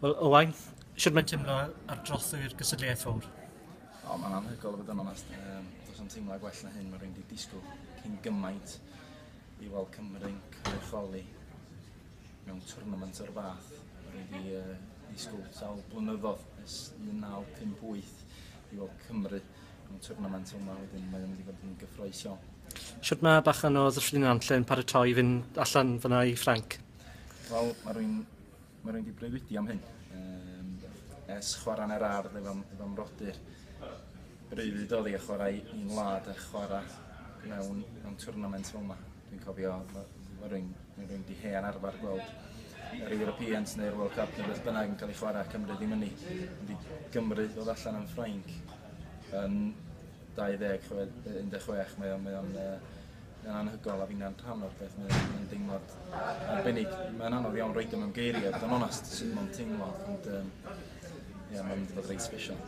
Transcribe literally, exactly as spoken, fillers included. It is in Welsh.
Wel, Owain, sut mae'n teimlo ar drothwy'r gystadleuaeth fawr? O, mae'n anhygoel i fod yn onest. Um, does 'na'm teimlad gwell na hyn, mae rhywun wedi disgwyl cyn gymaint i weld Cymru'n cynrychioli mewn tournament o'r fath. Mae rhywun wedi uh, disgwyl sawl blynyddoedd ers un naw pump wyth i weld Cymru mewn tournament yma, wedyn mae'n mynd i fod yn gyffrous iawn. Sut mae bachan o Ddyffryn Nantlle yn paratoi i fynd allan fyna i Ffrainc? Wel, mae rhywun, mae rhywun wedi breuddwydio am hyn. Um, ers chwarae yn yr ardd efo, efo mrodyr. Breuddwyd oedd i a chwarae i'n wlad a chwarae mewn, mewn tournament fel yma. Dwi'n cofio, mae ma rhywun, ma rhywun di hen arfer gweld yr Europeans neu'r World Cup neu beth bynnag yn cael ei chwarae, Cymru ddim yn ni. Ond i Gymru ddod allan yn Ffrainc yn dau ddeg un deg chwech, mae o'n, mae o'n, uh, anhygoel a fi'n rhan o'r beth, mae'n mae deimlad arbennig. Mae'n anodd iawn roid o mewn geiriau, bod yn onest, sut mae'n teimlo, ond um, ie, mae'n mynd i fod reit special.